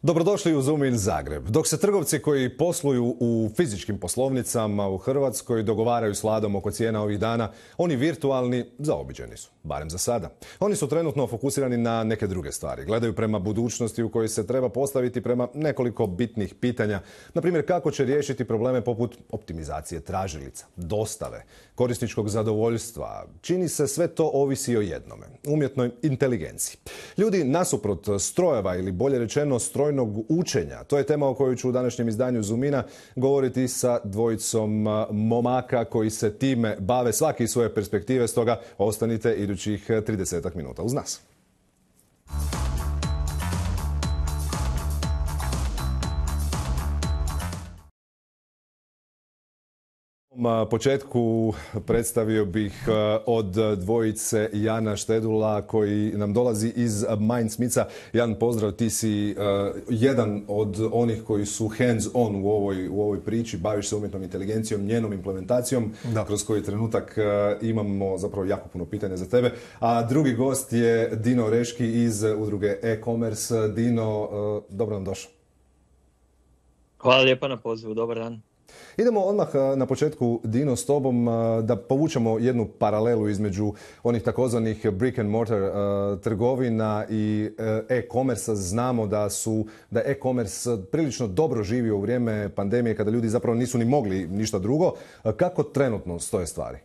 Dobrodošli u Zoomin Zagreb. Dok se trgovci koji posluju u fizičkim poslovnicama u Hrvatskoj dogovaraju s Vladom oko cijena ovih dana, oni virtualni zaobiđeni su, barem za sada. Oni su trenutno fokusirani na neke druge stvari. Gledaju prema budućnosti u kojoj se treba postaviti prema nekoliko bitnih pitanja. Na primjer, kako će riješiti probleme poput optimizacije tražilica, dostave, korisničkog zadovoljstva. Čini se sve to ovisi o jednome, umjetnoj inteligenciji. Ljudi nasuprot strojeva ili bolje rečeno strojnog učenja. To je tema o kojoj ću u današnjem izdanju Zoomina govoriti sa dvojicom momaka koji se time bave svaki iz svoje perspektive, stoga ostanite idućih 30 minuta uz nas. Na početku predstavio bih od dvojice Jana Štedula koji nam dolazi iz Mindsmitha. Jan, pozdrav, ti si jedan od onih koji su hands on u ovoj priči, baviš se umjetnom inteligencijom, njenom implementacijom, kroz koji trenutak imamo zapravo jako puno pitanja za tebe. A drugi gost je Dino Reški iz udruge e-commerce. Dino, dobro nam došao. Hvala lijepa na pozivu, dobar dan. Idemo odmah na početku, Dino, s tobom da povučemo jednu paralelu između onih takozvanih brick and mortar trgovina i e-commerce. Znamo da e-commerce prilično dobro živio u vrijeme pandemije kada ljudi zapravo nisu ni mogli ništa drugo. Kako trenutno stoje stvari?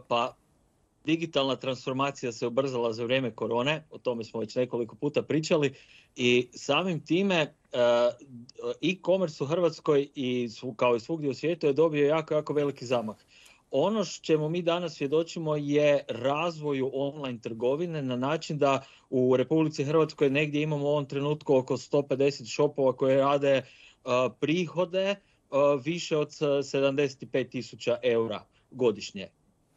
Pa, digitalna transformacija se ubrzala za vrijeme korone, o tome smo već nekoliko puta pričali i samim time e-commerce u Hrvatskoj i kao i svugdje u svijetu je dobio jako veliki zamah. Ono čemu mi danas svjedočimo je razvoju online trgovine na način da u Republici Hrvatskoj negdje imamo u ovom trenutku oko 150 shopova koje rade prihode više od 75.000 eura godišnje.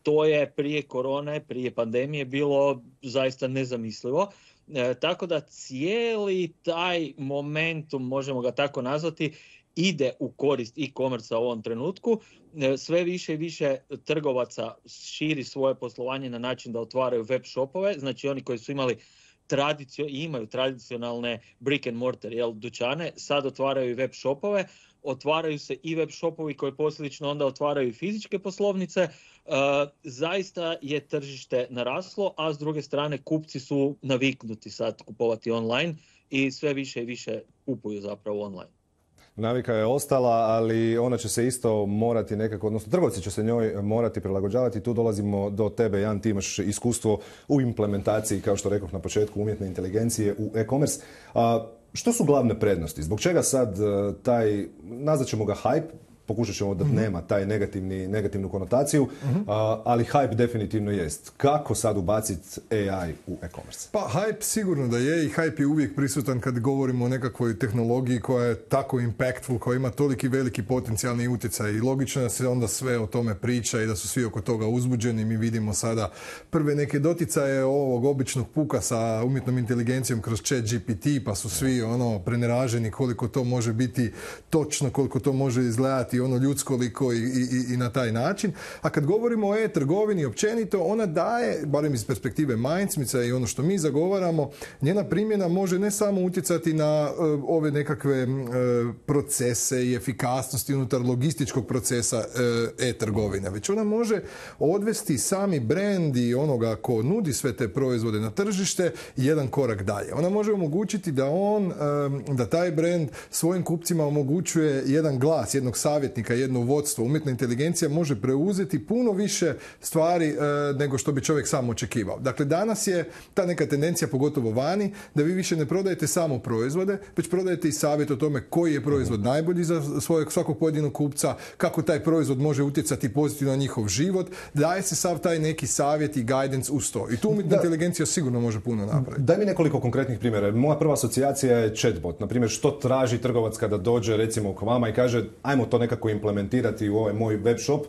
To je prije korone, prije pandemije bilo zaista nezamislivo. Tako da cijeli taj momentum, možemo ga tako nazvati, ide u korist e-commerce u ovom trenutku. Sve više i više trgovaca širi svoje poslovanje na način da otvaraju web shopove. Znači oni koji su imali imaju tradicionalne brick and mortar dućane, sad otvaraju i web shopove. Otvaraju se i web shopovi koji posljedično onda otvaraju i fizičke poslovnice. Zaista je tržište naraslo, a s druge strane kupci su naviknuti sad kupovati online i sve više i više kupuju zapravo online. Navika je ostala, ali ona će se isto morati nekako, odnosno trgovci će se njoj morati prilagođavati. Tu dolazimo do tebe, Jan, ti imaš iskustvo u implementaciji, kao što rekoh na početku, umjetne inteligencije u e-commerce. Što su glavne prednosti? Zbog čega sad taj, nazvat ćemo ga hype, pokušat ćemo da nema taj negativnu konotaciju, ali hype definitivno jest. Kako sad ubaciti AI u e-commerce? Pa hype sigurno da je i hype je uvijek prisutan kad govorimo o nekakvoj tehnologiji koja je tako impactful, koja ima toliki veliki potencijalni utjecaj i logično da se onda sve o tome priča i da su svi oko toga uzbuđeni. Mi vidimo sada prve neke doticaje ovog običnog puka sa umjetnom inteligencijom kroz ChatGPT, pa su svi preneraženi koliko to može biti točno, koliko to može izgledati ljudskoliko i na taj način. A kad govorimo o e-trgovini općenito, ona daje, barem iz perspektive Mindsmitha i ono što mi zagovaramo, njena primjena može ne samo utjecati na ove nekakve procese i efikasnosti unutar logističkog procesa e-trgovine, već ona može odvesti sami brand i onoga ko nudi sve te proizvode na tržište jedan korak dalje. Ona može omogućiti da taj brand svojim kupcima omogućuje jedan glas, jednog savjetnika, jedno vodstvo. Umjetna inteligencija može preuzeti puno više stvari nego što bi čovjek sam očekivao. Dakle, danas je ta neka tendencija, pogotovo vani, da vi više ne prodajete samo proizvode, već prodajete i savjet o tome koji je proizvod najbolji za svakog pojedinog kupca, kako taj proizvod može utjecati pozitivno na njihov život. Daje se sav taj neki savjet i guidance uz to. I tu umjetna inteligencija sigurno može puno napraviti. Daj mi nekoliko konkretnih primjera. Moja prva asocijacija je chatbot. Na primjer, što traži trgovac kada dođe recimo k vama i kaže ajmo to nekako implementirati u ovaj moj web shop,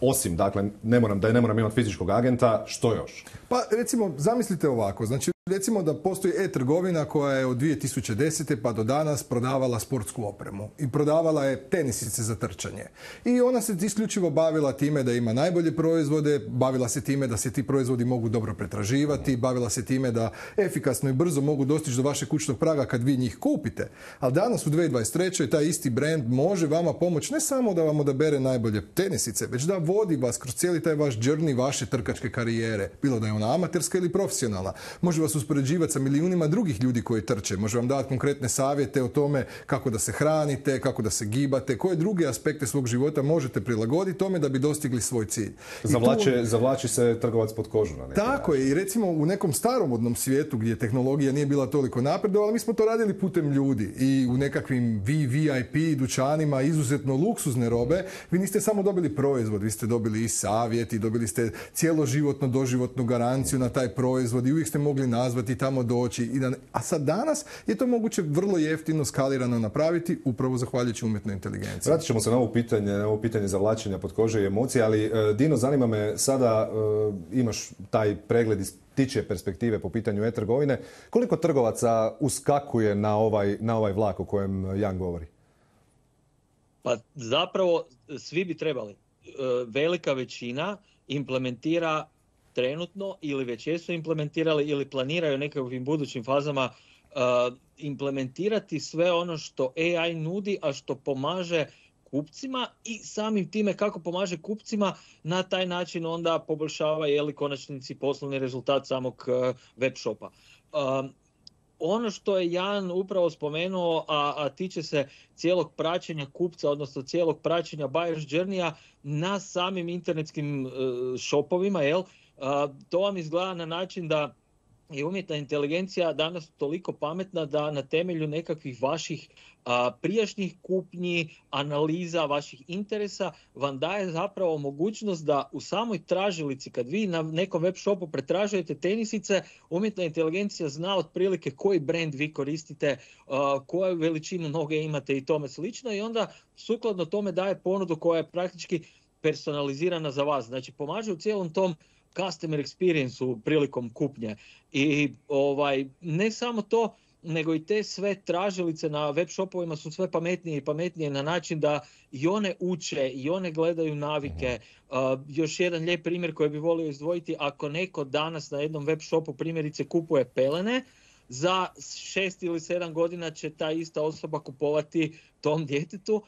osim, dakle, ne moram imati fizičkog agenta, što još? Pa recimo, zamislite ovako, znači Recimo da postoji e-trgovina koja je od 2010. pa do danas prodavala sportsku opremu i prodavala je tenisice za trčanje. I ona se isključivo bavila time da ima najbolje proizvode, bavila se time da se ti proizvodi mogu dobro pretraživati, bavila se time da efikasno i brzo mogu dostići do vašeg kućnog praga kad vi njih kupite. Ali danas u 2023. taj isti brand može vama pomoći ne samo da vam odabere najbolje tenisice, već da vodi vas kroz cijeli taj vaš journey vaše trkačke karijere. Bilo da je ona amaterska ili profesionalna. Može vas uspoređivati sa milijunima drugih ljudi koji trče. Može vam dati konkretne savjete o tome kako da se hranite, kako da se gibate, koje druge aspekte svog života možete prilagoditi tome da bi dostigli svoj cilj. Zavlači se trgovac pod kožu na neki Tako je. I recimo u nekom staromodnom svijetu gdje tehnologija nije bila toliko napredovala, mi smo to radili putem ljudi. I u nekakvim VIP dućanima izuzetno luksuzne robe, vi niste samo dobili proizvod, vi ste dobili i savjet i dobili ste cjeloživotno, doživotnu garanciju na taj proizvod i uvijek ste mogli nazvati, tamo doći. A sad danas je to moguće vrlo jeftino, skalirano napraviti, upravo zahvaljujući umjetnoj inteligenciji. Vratit ćemo se na ovo pitanje zavlačenja pod kože i emocije, ali Dino, zanima me sada, imaš taj pregled iz ptičje perspektive po pitanju e-trgovine. Koliko trgovaca uskakuje na ovaj vlak o kojem Jan govori? Pa zapravo svi bi trebali. Velika većina implementira trenutno ili već jesu implementirali ili planiraju nekakvim budućim fazama implementirati sve ono što AI nudi, a što pomaže kupcima i samim time kako pomaže kupcima na taj način onda poboljšava konačnici poslovni rezultat samog web shopa. Ono što je Jan upravo spomenuo, a tiče se cijelog praćenja kupca, odnosno cijelog praćenja buyer's journeya na samim internetskim shopovima, to vam izgleda na način da je umjetna inteligencija danas toliko pametna da na temelju nekakvih vaših prijašnjih kupnji, analiza vaših interesa vam daje zapravo mogućnost da u samoj tražilici, kad vi na nekom web shopu pretražujete tenisice, umjetna inteligencija zna otprilike koji brand vi koristite, koju veličinu noge imate i tome slično, i onda sukladno tome daje ponudu koja je praktički personalizirana za vas. Znači pomaže u cijelom tom customer experience-u prilikom kupnje. I ne samo to, nego i te sve tražilice na web shopovima su sve pametnije i pametnije na način da i one uče i one gledaju navike. Još jedan lijep primjer koji bi volio izdvojiti, ako neko danas na jednom web shopu primjerice kupuje pelene, za 6 ili 7 godina će ta ista osoba kupovati tom djetetu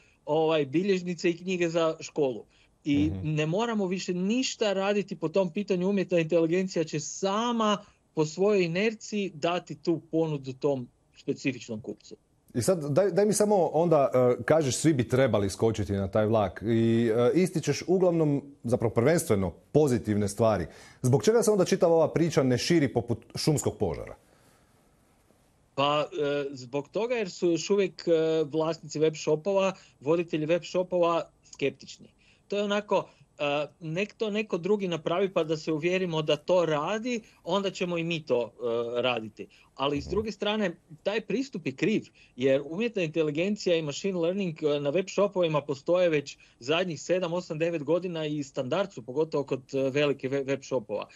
bilježnice i knjige za školu. I ne moramo više ništa raditi po tom pitanju, umjetna inteligencija će sama po svojoj inerciji dati tu ponudu tom specifičnom kupcu. I sad daj mi samo onda kažeš svi bi trebali skočiti na taj vlak i ističeš uglavnom, zapravo prvenstveno, pozitivne stvari. Zbog čega se onda čitava ova priča ne širi poput šumskog požara? Pa zbog toga jer su još uvijek vlasnici web shopova, voditelji web shopova skeptični. To je onako, nek to neko drugi napravi pa da se uvjerimo da to radi, onda ćemo i mi to raditi. Ali s druge strane, taj pristup je kriv, jer umjetna inteligencija i machine learning na web shopovima postoje već zadnjih 7, 8, 9 godina i standard su, pogotovo kod velike web shopova.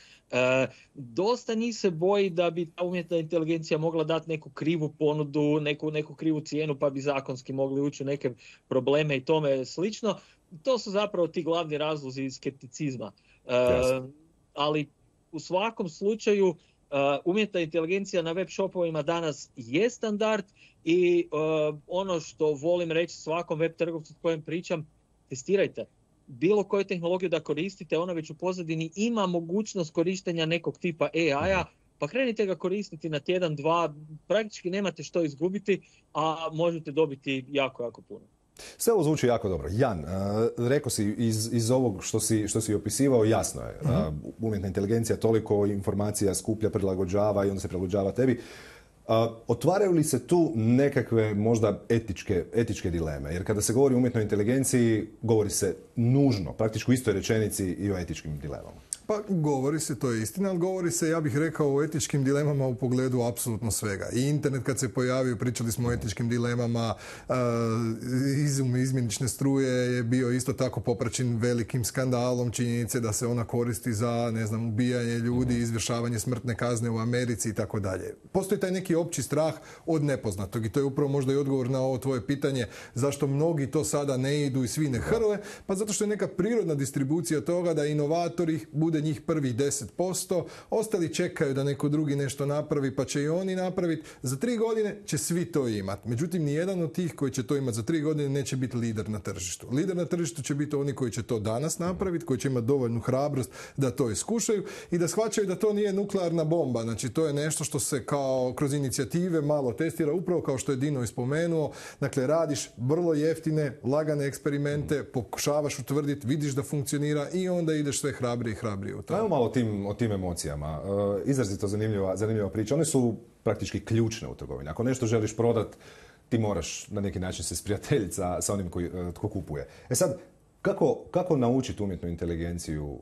Dosta njih se boji da bi ta umjetna inteligencija mogla dati neku krivu ponudu, neku krivu cijenu pa bi zakonski mogli ući u neke probleme i tome slično. To su zapravo ti glavni razlozi skepticizma. Ali u svakom slučaju umjetna inteligencija na web shopovima danas je standard i ono što volim reći svakom web trgovcu s kojim pričam, testirajte. Bilo koju tehnologiju da koristite, ona već u pozadini ima mogućnost korištenja nekog tipa AI-a, pa krenite ga koristiti na tjedan, dva, praktički nemate što izgubiti, a možete dobiti jako, jako puno. Sve ovo zvuči jako dobro. Jan, rekao si iz ovog što si opisivao, jasno je. Umjetna inteligencija toliko informacija skuplja, prilagođava i onda se prilagođava tebi. Otvaraju li se tu nekakve možda etičke dileme? Jer kada se govori o umjetnoj inteligenciji, govori se nužno, praktički u istoj rečenici i o etičkim dilemama. Pa govori se, to je istina, ali govori se, ja bih rekao, o etičkim dilemama u pogledu apsolutno svega. I internet kad se pojavio, pričali smo o etičkim dilemama, izmjenične struje je bio isto tako popraćen velikim skandalom činjenice da se ona koristi za, ne znam, ubijanje ljudi, izvršavanje smrtne kazne u Americi i tako dalje. Postoji taj neki opći strah od nepoznatog i to je upravo možda i odgovor na ovo tvoje pitanje zašto mnogi to sada ne idu i svi ne hrle, pa zato što je neka prirodna distribucija toga da inovatori bude njih prvih 10%, ostali čekaju da neko drugi nešto napravi pa će i oni napraviti. Za 3 godine će svi to imati. Međutim, nijedan od tih koji će to imati za 3 godine neće biti lider na tržištu. Lider na tržištu će biti oni koji će to danas napraviti, koji će imati dovoljnu hrabrost da to iskušaju i da shvaćaju da to nije nuklearna bomba. Znači, to je nešto što se kao kroz inicijative malo testira, upravo kao što je Dino ispomenuo. Dakle, radiš vrlo jeftine, lagane eksperimente, pokušavaš utvrditi, vidiš da funkcionira i onda ideš sve hrabrije i hrabrije u to. Ajmo malo o tim emocijama. Izrazito zanimljiva priča. One su praktički ključne u trgovini. Ako nešto želiš prodati, ti moraš na neki način se sprijateljiti sa onim tko kupuje. Sad, kako naučiti umjetnu inteligenciju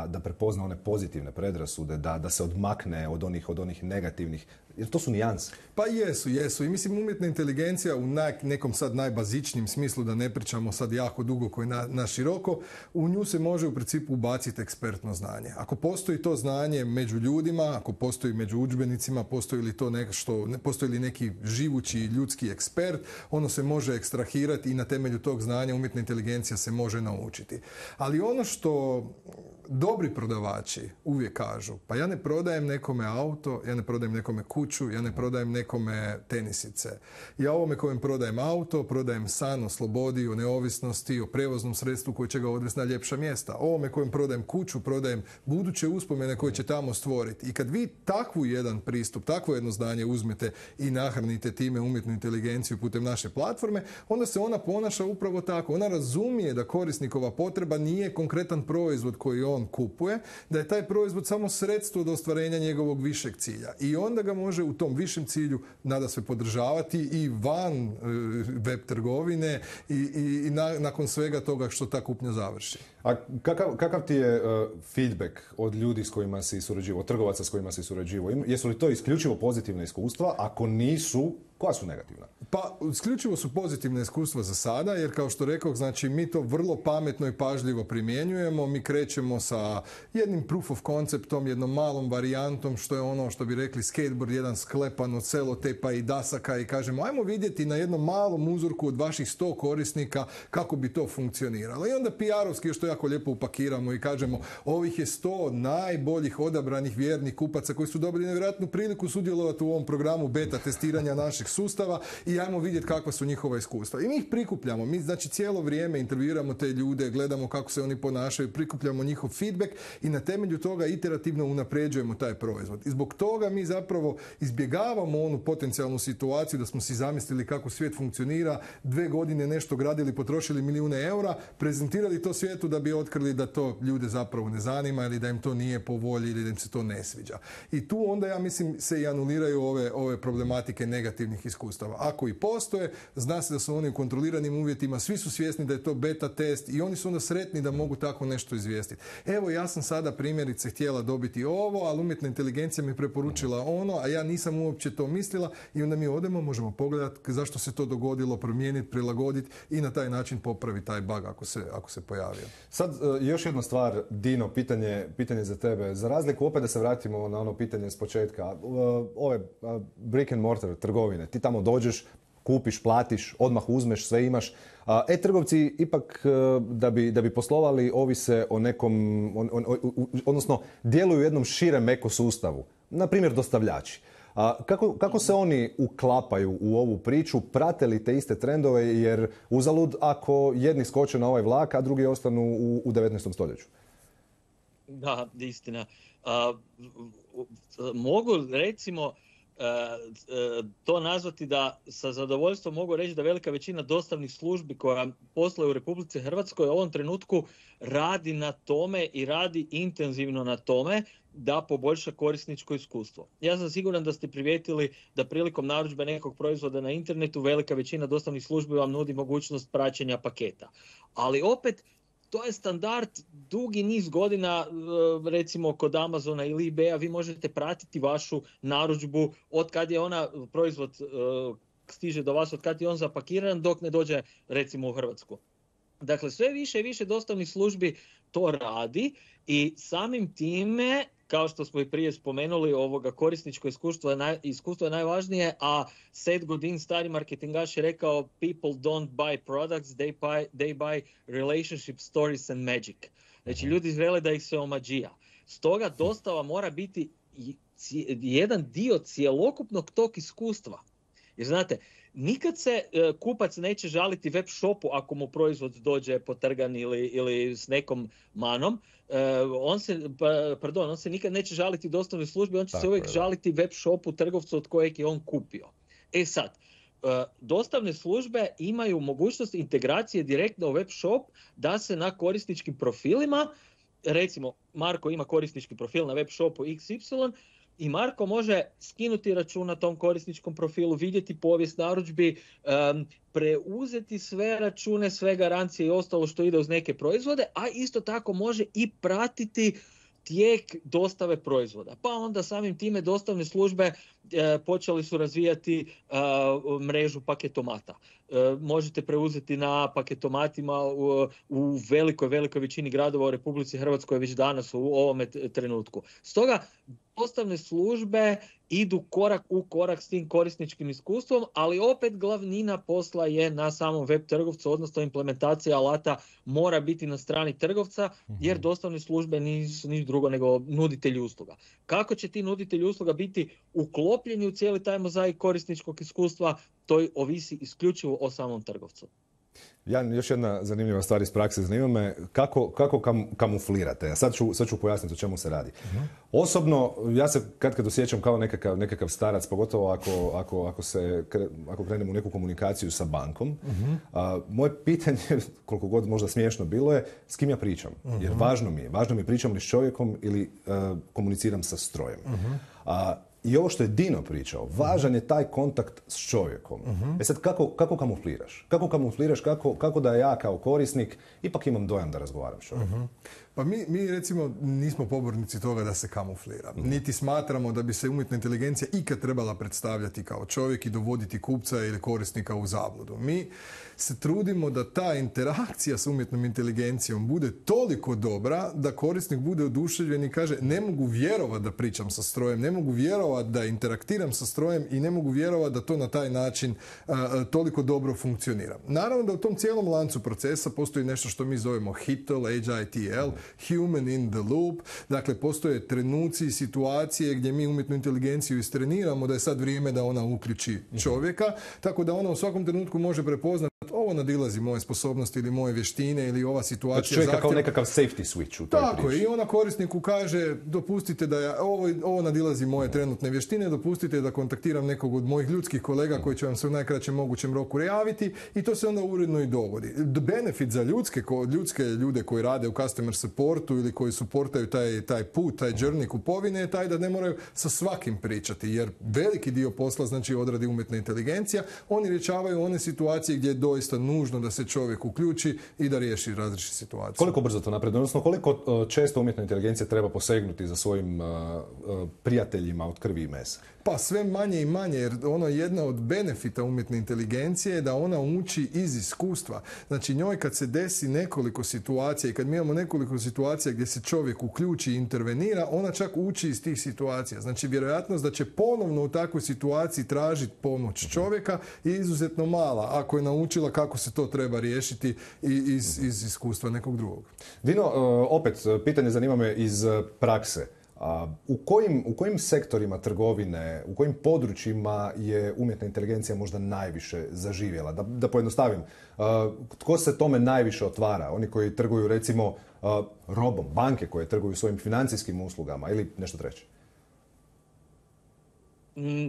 da prepozna one pozitivne predrasude, da se odmakne od onih negativnih? Jer to su nijanse. Pa jesu. I mislim, umjetna inteligencija u nekom sad najbazičnijem smislu, da ne pričamo sad jako dugo koji na široko, u nju se može u principu ubaciti ekspertno znanje. Ako postoji to znanje među ljudima, ako postoji među udžbenicima, postoji li neki živući ljudski ekspert, ono se može ekstrahirati i na temelju tog znanja umjetna inteligencija se može naučiti. Ali ono što dobri prodavači uvijek kažu, pa ja ne prodajem nekome auto, ja ne prodajem nekome kuću, ja ne prodajem nekome tenisice. Ja ovome kojem prodajem auto, prodajem san o slobodi, o neovisnosti, o prevoznom sredstvu koje će ga odvesti na ljepša mjesta. Ovome kojem prodajem kuću, prodajem buduće uspomene koje će tamo stvoriti. I kad vi takvu jedan pristup, takvo jedno znanje uzmete i nahranite time umjetnu inteligenciju putem naše platforme, onda se ona ponaša upravo tako. Ona razumije da korisnikova potreba nije konkretan proizvod koji on kupuje, da je taj proizvod samo sredstvo do ostvarenja njegovog višeg cilja. I onda ga može u tom višem cilju nada se podržavati i van web trgovine i nakon svega toga što ta kupnja završi. A kakav ti je feedback od ljudi s kojima si surađivao, od trgovaca s kojima si surađivao? Jesu li to isključivo pozitivna iskustva? Ako nisu, koja su negativna? Pa, isključivo su pozitivna iskustva za sada, jer kao što rekao, znači mi to vrlo pametno i pažljivo primjenjujemo. Mi krećemo sa jednim proof of conceptom, jednom malom varijantom, što je ono što bi rekli skateboard, jedan sklepan od celotepa i dasaka i kažemo, ajmo vidjeti na jednom malom uzorku od vaših 100 korisnika kako bi to funkcioniralo. I onda PR-ovski još to jako lijepo upakiramo i kažemo, ovih je 100 najboljih odabranih vjernih kupaca koji su dobili nevjerojatnu priliku sudjelovati u ovom programu beta testiranja naših sustava i ajmo vidjeti kakva su njihova iskustva. I mi ih prikupljamo. Mi znači cijelo vrijeme intervjuiramo te ljude, gledamo kako se oni ponašaju, prikupljamo njihov feedback i na temelju toga iterativno unapređujemo taj proizvod. I zbog toga mi zapravo izbjegavamo onu potencijalnu situaciju da smo si zamislili kako svijet funkcionira, 2 godine nešto gradili, potrošili milijune eura, prezentirali to svijetu da bi otkrili da to ljude zapravo ne zanima ili da im to nije po volji ili da im se to ne sviđa. I tu onda, ja mislim, se i anuliraju ove problematike negativnih iskustava. Ako i postoje, zna se da su oni u kontroliranim uvjetima, svi su svjesni da je to beta test i oni su onda sretni da mogu tako nešto izvijestiti. Evo, ja sam sada primjerice htjela dobiti ovo, ali umjetna inteligencija mi je preporučila ono, a ja nisam uopće to mislila i onda mi odemo, možemo pogledati zašto se to dogodilo, promijeniti, prilagoditi i na taj način popraviti taj bug ako se pojavio. Sad, još jedna stvar, Dino, pitanje za tebe. Za razliku, opet da se vratimo na ono pitanje s početka, ove brick and mortar trgovine, ti tamo dođeš, kupiš, platiš, odmah uzmeš, sve imaš. E-trgovci ipak da bi poslovali ovise o nekom, odnosno djeluju u jednom širem ekosustavu. Na primjer, dostavljači. Kako se oni uklapaju u ovu priču? Prate li te iste trendove? Jer uzalud ako jedni skoče na ovaj vlak, a drugi ostanu u 19. stoljeću. Da, istina. Mogu recimo to nazvati da sa zadovoljstvom mogu reći da velika većina dostavnih službi koja posluje u Republici Hrvatskoj u ovom trenutku radi na tome i radi intenzivno na tome da poboljša korisničko iskustvo. Ja sam siguran da ste primijetili da prilikom narudžbe nekog proizvoda na internetu velika većina dostavnih službi vam nudi mogućnost praćenja paketa. Ali opet, to je standard dugi niz godina, recimo kod Amazona ili eBaya vi možete pratiti vašu narudžbu od kad je ona proizvod stiže do vas, od kad je on zapakiran, dok ne dođe recimo u Hrvatsku. Dakle, sve više i više dostavnih službi to radi i samim time, kao što smo i prije spomenuli, korisničko iskustvo je najvažnije, a Seth Godin, stari marketingaš, je rekao people don't buy products, they buy relationship stories and magic. Znači, ljudi žele da ih se omađija. Stoga dostava mora biti jedan dio cjelokupnog tog iskustva. Jer znate, nikad se kupac neće žaliti web shopu ako mu proizvod dođe potrgan ili s nekom manom. On se nikad neće žaliti dostavnoj službi, on će se uvijek žaliti web shopu, trgovcu od kojeg je on kupio. E sad, dostavne službe imaju mogućnost integracije direktno u web shop da se na korisničkim profilima, recimo Marko ima korisnički profil na web shopu XY, i Marko može skinuti račun na tom korisničkom profilu, vidjeti povijest narudžbi, preuzeti sve račune, sve garancije i ostalo što ide uz neke proizvode, a isto tako može i pratiti tijek dostave proizvoda. Pa onda samim time dostavne službe počeli su razvijati mrežu paketomata. Možete preuzeti na paketomatima u velikoj većini gradova u Republici Hrvatskoj već danas u ovome trenutku. Stoga dostavne službe idu korak u korak s tim korisničkim iskustvom, ali opet glavnina posla je na samom web trgovcu, odnosno implementacija alata mora biti na strani trgovca, jer dostavne službe nisu ništa drugo nego nuditelji usluga. Kako će ti nuditelji usluga biti uklopljeni u cijeli taj mozaik korisničkog iskustva, to ovisi isključivo o samom trgovcu. Još jedna zanimljiva stvar iz prakse, zanima me kako kamuflirate. Sad ću pojasniti o čemu se radi. Osobno, ja se kad osjećam kao nekakav starac, pogotovo ako krenemo u neku komunikaciju sa bankom. Moje pitanje, koliko god možda smiješno bilo je, s kim ja pričam. Jer važno mi je pričam li s čovjekom ili komuniciram sa strojem. I ovo što je Dino pričao, važan je taj kontakt s čovjekom. Sad, kako kamufliraš? Kako da ja kao korisnik ipak imam dojam da razgovaram s čovjekom? Pa mi recimo nismo pobornici toga da se kamuflira. Niti smatramo da bi se umjetna inteligencija ikad trebala predstavljati kao čovjek i dovoditi kupca ili korisnika u zabludu. Mi se trudimo da ta interakcija s umjetnom inteligencijom bude toliko dobra da korisnik bude oduševljen i kaže ne mogu vjerovati da pričam sa strojem, ne mogu vjerovati da interaktiram sa strojem i ne mogu vjerovati da to na taj način toliko dobro funkcionira. Naravno da u tom cijelom lancu procesa postoji nešto što mi zovemo HITL, HITL, Human in the loop. Dakle, postoje trenuci i situacije gdje mi umjetnu inteligenciju istreniramo da je sad vrijeme da ona uključi čovjeka, tako da ona u svakom trenutku može prepoznati ovo nadilazi moje sposobnosti ili moje vještine ili ova situacija zahtjeva. Kao nekakav safety switch u toj priči. Tako je, i ona korisniku kaže dopustite da ovo nadilazi moje trenutne vještine, dopustite da kontaktiram nekog od mojih ljudskih kolega koji će vam se u najkraćem mogućem roku javiti i to se onda uredno i dogodi. Benefit za ljudske ljude koji rade u customer supportu ili koji supportaju taj put, taj journey kupovine je taj da ne moraju sa svakim pričati, jer veliki dio posla znači odradi umjetna inteligencija, oni rješavaju one situacije gdje je doista nužno da se čovjek uključi i da riješi različite situacije. Koliko brzo to napreduje? Odnosno, koliko često umjetna inteligencija treba posegnuti za svojim prijateljima od krvi i mesa? Pa sve manje i manje, jer ono jedna od benefita umjetne inteligencije je da ona uči iz iskustva. Znači njoj kad se desi nekoliko situacija i kad mi imamo nekoliko situacija gdje se čovjek uključi i intervenira, ona čak uči iz tih situacija. Znači vjerojatnost da će ponovno u takvoj situaciji tražiti pomoć čovjeka je izuzetno mala, ako je naučila kako se to treba riješiti iz iskustva nekog drugog. Dino, opet, pitanje zanima me iz prakse. U kojim sektorima trgovine, u kojim područjima je umjetna inteligencija možda najviše zaživjela? Da pojednostavim, tko se tome najviše otvara? Oni koji trguju recimo robom, banke koje trguju svojim financijskim uslugama ili nešto treće?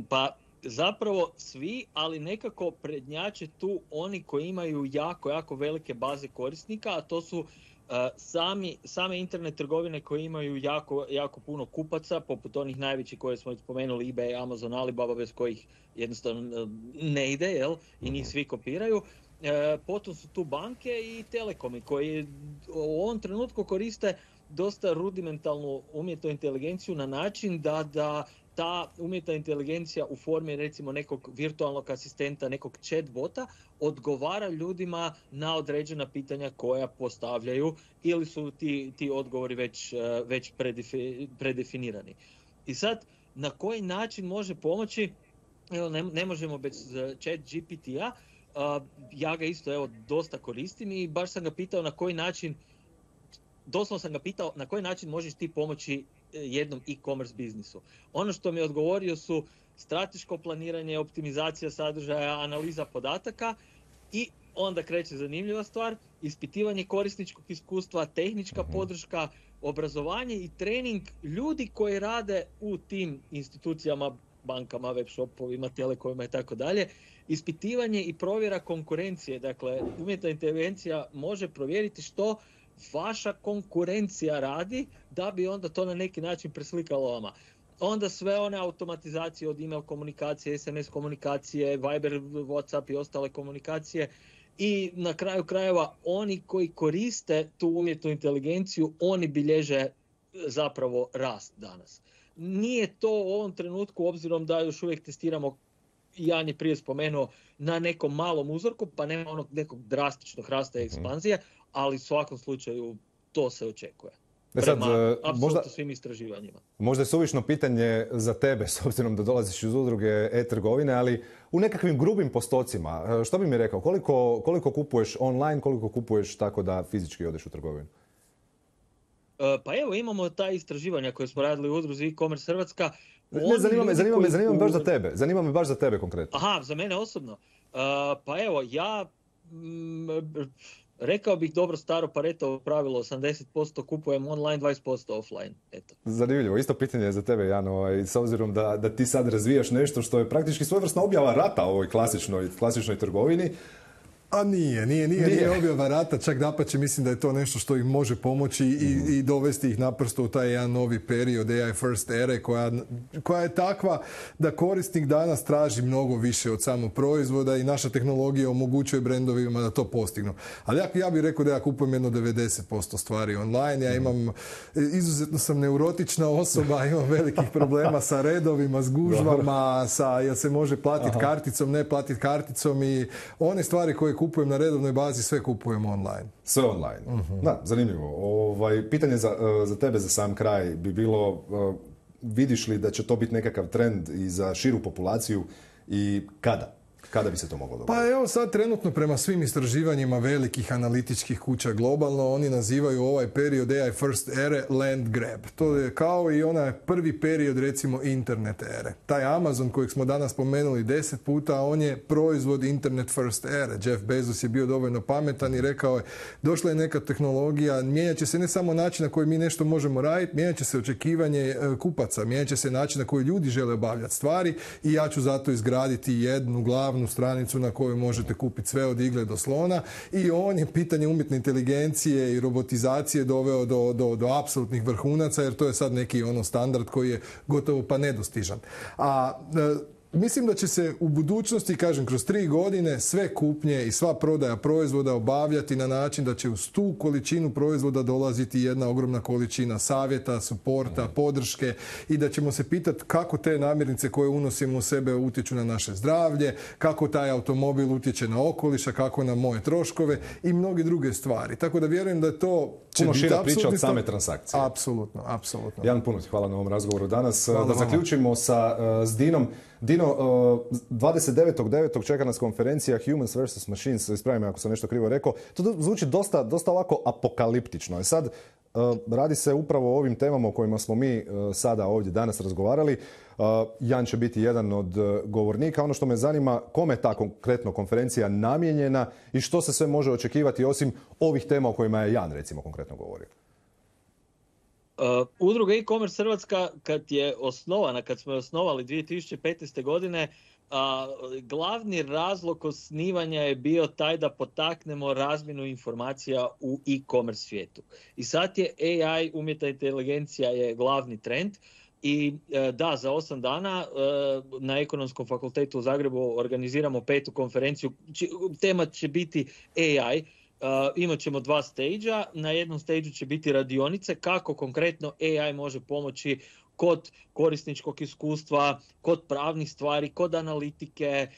Pa zapravo svi, ali nekako prednjače tu oni koji imaju jako velike baze korisnika, a to su same internet trgovine koje imaju jako puno kupaca, poput onih najvećih koje smo spomenuli, eBay, Amazon, Alibaba, bez kojih jednostavno ne ide, jel? I njih svi kopiraju. Potom su tu banke i telekomi koji u ovom trenutku koriste dosta rudimentalnu umjetnu inteligenciju na način da ta umjetna inteligencija u formi recimo nekog virtualnog asistenta, nekog chatbota, odgovara ljudima na određena pitanja koja postavljaju ili su ti odgovori već predefinirani. I sad, na koji način može pomoći? Evo, ne možemo bez chat GPT-a, ja ga isto dosta koristim i baš sam ga pitao na koji način, doslovno sam ga pitao na koji način možeš ti pomoći jednom e-commerce biznisu. Ono što mi je odgovorio su strateško planiranje, optimizacija sadržaja, analiza podataka i onda kreće zanimljiva stvar, ispitivanje korisničkog iskustva, tehnička podrška, obrazovanje i trening ljudi koji rade u tim institucijama, bankama, web shopovima, telekomima i tako dalje, ispitivanje i provjera konkurencije. Dakle, umjetna inteligencija može provjeriti što vaša konkurencija radi da bi onda to na neki način preslikalo vama. Onda sve one automatizacije od email komunikacije, SMS komunikacije, Viber, WhatsApp i ostale komunikacije. I na kraju krajeva oni koji koriste tu umjetnu inteligenciju, oni bilježe zapravo rast danas. Nije to u ovom trenutku, obzirom da još uvijek testiramo, Jan je prije spomenuo, na nekom malom uzorku, pa nema onog nekog drastičnog rasta i ekspanzije, ali u svakom slučaju to se očekuje. Prema apsolutno svim istraživanjima. Možda je suvišno pitanje za tebe, s obzirom da dolaziš iz udruge e-trgovine, ali u nekakvim grubim postocima, što bi mi rekao, koliko kupuješ online, koliko kupuješ tako da fizički odeš u trgovinu? Pa evo, imamo ta istraživanja koje smo radili u udruzi e-commerce Hrvatska. Zanima me baš za tebe. Zanima me baš za tebe konkretno. Aha, za mene osobno. Pa evo, ja rekao bih dobro staro Paretovo pravilo, 80% kupujem online, 20% offline. Eto. Zanimljivo. Isto pitanje za tebe, Jan, s obzirom da ti sad razvijaš nešto što je praktički svojevrsna objava rata ovoj klasičnoj trgovini. A nije objava rata, čak dapače mislim da je to nešto što im može pomoći i dovesti ih naprosto u taj jedan novi period AI first ere koja je takva da korisnik danas traži mnogo više od samog proizvoda i naša tehnologija omogućuje brendovima da to postignu. Ali ja bih rekao da ja kupujem jedno 90% stvari online, izuzetno sam neurotična osoba, imam velikih problema sa redovima, s gužvama, jel se može platiti karticom, ne platiti karticom i one stvari koje kupujem na redovnoj bazi, sve kupujem online. Sve online. Da, zanimljivo. Pitanje za tebe za sam kraj bi bilo, vidiš li da će to biti nekakav trend i za širu populaciju i kada? Kada bi se to moglo dogoditi? Pa evo sad trenutno prema svim istraživanjima velikih analitičkih kuća globalno, oni nazivaju ovaj period AI first ere land grab. To je kao i onaj prvi period recimo internet ere. Taj Amazon kojeg smo danas spomenuli 10 puta, on je proizvod internet first ere. Jeff Bezos je bio dovoljno pametan i rekao je došla je neka tehnologija, mijenjat će se ne samo način na koji mi nešto možemo raditi, mijenjat će se očekivanje kupaca, mijenjat će se način na koji ljudi žele obavljati stvari i ja ću zato izgraditi jednu glavnu stranicu na kojoj možete kupiti sve od igle do slona i on je pitanje umjetne inteligencije i robotizacije doveo do apsolutnih vrhunaca jer to je sad neki standard koji je gotovo pa nedostižan. Mislim da će se u budućnosti, kažem, kroz 3 godine sve kupnje i sva prodaja proizvoda obavljati na način da će uz tu količinu proizvoda dolaziti jedna ogromna količina savjeta, suporta, podrške i da ćemo se pitati kako te namirnice koje unosimo u sebe utječu na naše zdravlje, kako taj automobil utječe na okoliša, kako na moje troškove i mnoge druge stvari. Tako da vjerujem da je to puno šira priča od same transakcije. Apsolutno. Jan, puno ti hvala na ovom razgovoru danas. Da zaključimo s Dinom. Dino, 29.9. čeka nas konferencija Humans vs. Machines, ispravim me ako sam nešto krivo rekao. To zvuči dosta ovako apokaliptično. Sad, radi se upravo o ovim temama o kojima smo mi sada ovdje danas razgovarali. Jan će biti jedan od govornika. Ono što me zanima, kome je ta konkretno konferencija namijenjena i što se sve može očekivati osim ovih tema o kojima je Jan recimo konkretno govorio? Udruga e-commerce Hrvatska kad smo je osnovali 2015. godine, glavni razlog osnivanja je bio taj da potaknemo razmjenu informacija u e-commerce svijetu. I sad je AI, umjetna inteligencija je glavni trend. I da, za 8 dana na Ekonomskom fakultetu u Zagrebu organiziramo 5. konferenciju. Tema će biti AI. Imat ćemo 2 stage-a. Na jednom stage-u će biti radionice kako konkretno AI može pomoći kod korisničkog iskustva, kod pravnih stvari, kod analitike,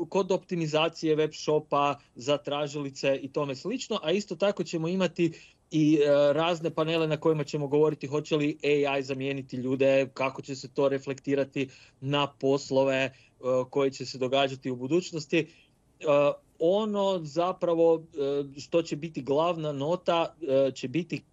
kod optimizacije web shopa za tražilice i tome slično, a isto tako ćemo imati i razne panele na kojima ćemo govoriti hoće li AI zamijeniti ljude, kako će se to reflektirati na poslove koji će se događati u budućnosti. Ono zapravo što će biti glavna nota će biti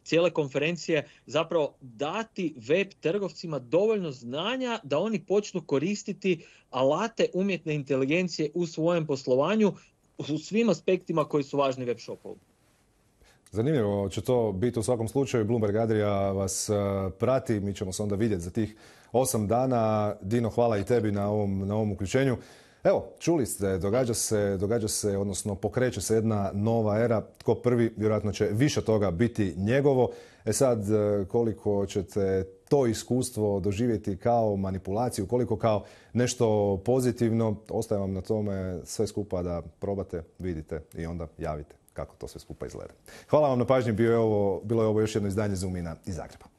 cijele konferencije zapravo dati web trgovcima dovoljno znanja da oni počnu koristiti alate umjetne inteligencije u svojem poslovanju u svim aspektima koji su važni web shopovu. Zanimljivo će to biti u svakom slučaju. Bloomberg Adria vas prati, mi ćemo se onda vidjeti za tih 8 dana. Dino, hvala i tebi na ovom uključenju. Evo, čuli ste, događa se, odnosno pokreće se jedna nova era. Tko prvi, vjerojatno će više toga biti njegovo. Sad, koliko ćete to iskustvo doživjeti kao manipulaciju, koliko kao nešto pozitivno, ostaje vam na tome sve skupa da probate, vidite i onda javite kako to sve skupa izgleda. Hvala vam na pažnji, bilo je ovo još jedno izdanje Zoom-ina iz Zagreba.